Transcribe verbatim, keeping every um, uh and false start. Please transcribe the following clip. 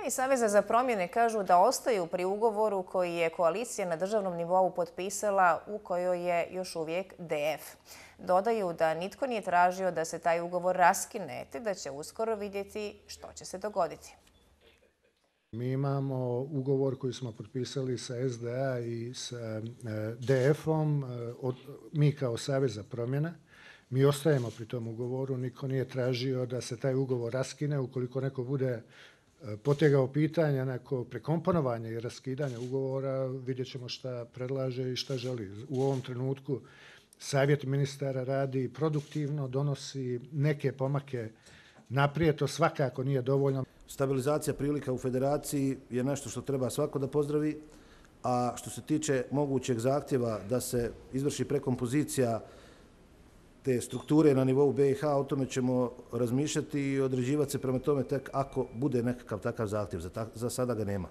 A i Saveza za promjene kažu da ostaju pri ugovoru koji je koalicija na državnom nivou potpisala, u kojoj je još uvijek D F. Dodaju da nitko nije tražio da se taj ugovor raskine, te da će uskoro vidjeti što će se dogoditi. Mi imamo ugovor koji smo potpisali sa S D A i sa D F-om, mi kao Savez za promjene. Mi ostajemo pri tom ugovoru, niko nije tražio da se taj ugovor raskine. Ukoliko neko bude potegao pitanja, neko prekomponovanje i raskidanje ugovora, vidjet ćemo šta predlaže i šta želi. U ovom trenutku Savjet ministara radi produktivno, donosi neke pomake naprijed, to svakako nije dovoljno. Stabilizacija prilika u federaciji je nešto što treba svako da pozdravi, a što se tiče mogućeg zahtjeva da se izvrši prekompozicija te strukture na nivou B i H, o tome ćemo razmišljati i određivati se prema tome tek ako bude nekakav takav zahtjev. Za sada ga nema.